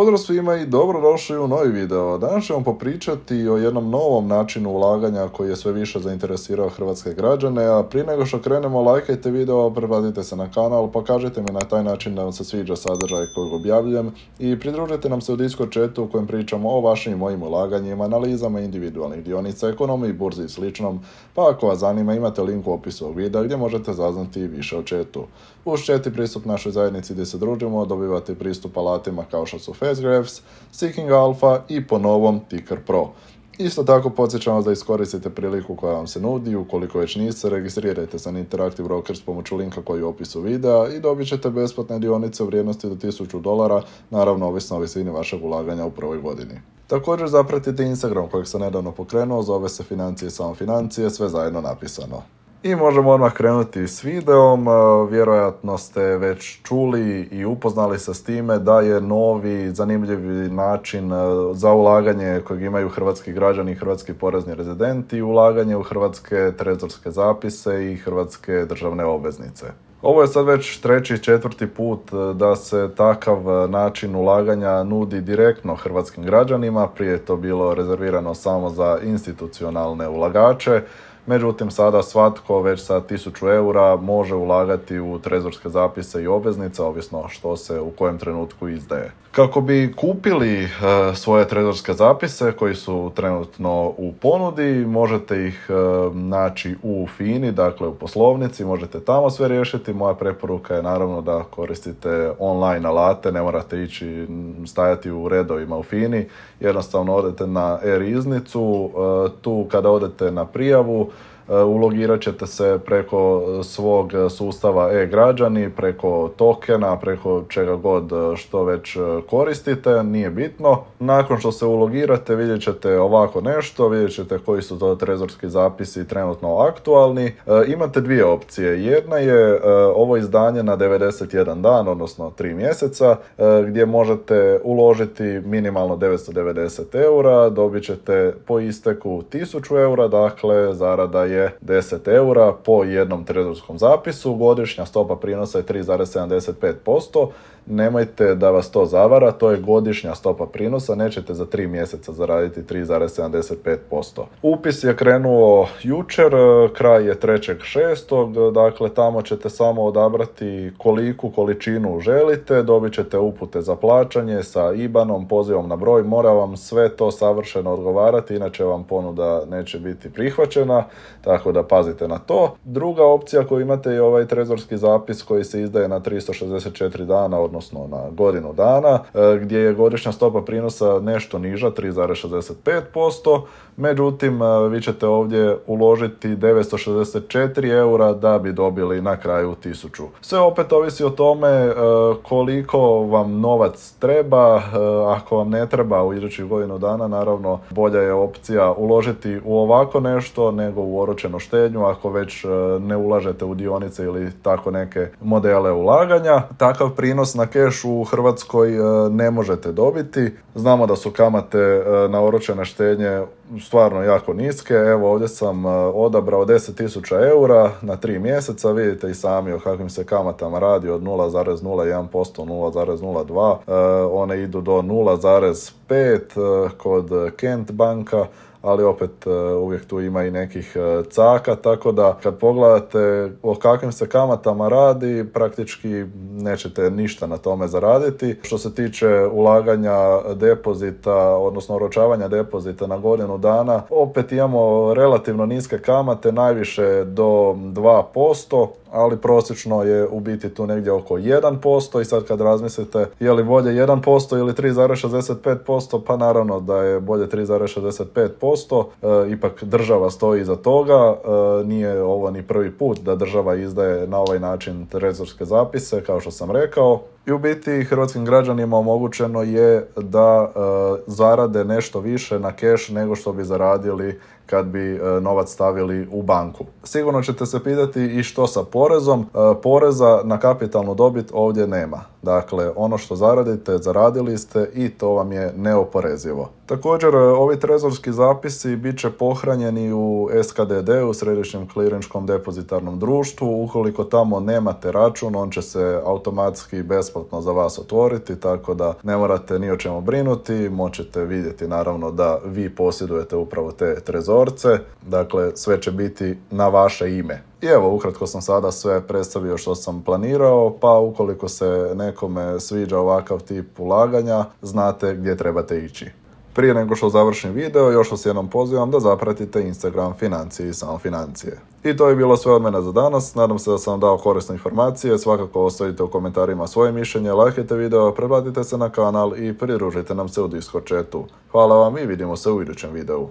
Pozdrav svima i dobrodošli u novi video. Danas ćemo popričati o jednom novom načinu ulaganja koji je sve više zainteresirao hrvatske građane, a prije nego što krenemo, lajkajte video, pretplatite se na kanal, pokažite mi na taj način da vam se sviđa sadržaj kojeg objavljujem i pridružite nam se u Discord chatu u kojem pričamo o vašim i mojim ulaganjima, analizama individualnih dionica, ekonomiji, burzi i sličnom, pa ako vas zanima imate link u opisu ovog videa gdje možete saznati više o chatu. Uz chat i pristup našoj zajednici gdje se družimo, dobivate pristup alatima kao što su FastGraphs, Seeking Alpha i po novom Ticker Pro. Isto tako podsjećam vas da iskoristite priliku koja vam se nudi, ukoliko već niste, registrirajte se na Interactive Brokers s pomoću linka koji je u opisu videa i dobit ćete besplatne dionice u vrijednosti do $1000, naravno ovisno o visini vašeg ulaganja u prvoj godini. Također zapratite Instagram kojeg sam nedavno pokrenuo, zove se Financije i samo financije, sve zajedno napisano. I možemo odmah krenuti s videom. Vjerojatno ste već čuli i upoznali se s time da je novi zanimljivi način za ulaganje kojeg imaju hrvatski građani i hrvatski porezni rezidenti, ulaganje u hrvatske trezorske zapise i hrvatske državne obveznice. Ovo je sad već treći, četvrti put da se takav način ulaganja nudi direktno hrvatskim građanima. Prije je to bilo rezervirano samo za institucionalne ulagače. Međutim, sada svatko već sa 1000 eura može ulagati u trezorske zapise i obveznice, ovisno što se u kojem trenutku izdaje. Kako bi kupili svoje trezorske zapise koji su trenutno u ponudi, možete ih naći u FINI, dakle u poslovnici, možete tamo sve riješiti. Moja preporuka je naravno da koristite online alate, ne morate ići stajati u redovima u FINI, jednostavno odete na e-riznicu, tu kada odete na prijavu, ulogirat ćete se preko svog sustava e-građani, preko tokena, preko čega god što već koristite, nije bitno. Nakon što se ulogirate vidjet ćete ovako nešto, vidjet ćete koji su to trezorski zapisi trenutno aktualni. Imate dvije opcije. Jedna je ovo izdanje na 91 dan, odnosno 3 mjeseca, gdje možete uložiti minimalno 990 eura, dobit ćete po isteku 1000 eura, dakle zarada je 10 eura po jednom trezorskom zapisu, godišnja stopa prinosa je 3,75%. Nemojte da vas to zavara, to je godišnja stopa prinosa, nećete za 3 mjeseca zaraditi 3,75%. Upis je krenuo jučer, kraj je 3.6. Dakle tamo ćete samo odabrati koliku količinu želite, dobit ćete upute za plaćanje sa IBAN-om, pozivom na broj, mora vam sve to savršeno odgovarati, inače vam ponuda neće biti prihvaćena, tako da pazite na to. Druga opcija koju imate je ovaj trezorski zapis koji se izdaje na 364 dana, odnosno na godinu dana, gdje je godišnja stopa prinosa nešto niža, 3,65%. Međutim, vi ćete ovdje uložiti 964 eura da bi dobili na kraju 1000. Sve opet ovisi o tome koliko vam novac treba. Ako vam ne treba u idućih godinu dana, naravno bolja je opcija uložiti u ovako nešto nego u oročenu štednju ako već ne ulažete u dionice ili tako neke modele ulaganja. Takav prinos na keš u Hrvatskoj ne možete dobiti. Znamo da su kamate na oročene štednje stvarno jako niske. Evo ovdje sam odabrao 10.000 eura na 3 mjeseca. Vidite i sami o kakvim se kamatama radi, od 0,01%, 0,02%. One idu do 0,5 kod Kent banka, ali opet uvijek tu ima i nekih caka, tako da kad pogledate o kakvim se kamatama radi, praktički nećete ništa na tome zaraditi. Što se tiče ulaganja depozita, odnosno oročavanja depozita na godinu dana, opet imamo relativno niske kamate, najviše do 2%, ali prosječno je u biti tu negdje oko 1% i sad kad razmislite je li bolje 1% ili 3,65%, pa naravno da je bolje 3,65%, ipak država stoji iza toga, nije ovo ni prvi put da država izdaje na ovaj način trezorske zapise, kao što sam rekao. I u biti hrvatskim građanima omogućeno je da zarade nešto više na keš nego što bi zaradili kad bi novac stavili u banku. Sigurno ćete se pitati i što sa porezom. Poreza na kapitalnu dobit ovdje nema. Dakle, ono što zaradite, zaradili ste i to vam je neoporezivo. Također, ovi trezorski zapisi bit će pohranjeni u SKDD, u Središnjem klirinškom depozitarnom društvu. Ukoliko tamo nemate račun, on će se automatski bez besplatno za vas otvoriti, tako da ne morate ni o čemu brinuti, možete vidjeti naravno da vi posjedujete upravo te trezorce, dakle sve će biti na vaše ime. I evo, ukratko sam sada sve predstavio što sam planirao, pa ukoliko se nekome sviđa ovakav tip ulaganja, znate gdje trebate ići. Prije nego što završim video, još vas jednom pozivam da zapratite Instagram Financije i samo financije. I to je bilo sve od mene za danas, nadam se da sam vam dao korisne informacije, svakako ostavite u komentarima svoje mišljenje, lajkajte video, pretplatite se na kanal i pridružite nam se u Discord chatu. Hvala vam i vidimo se u idućem videu.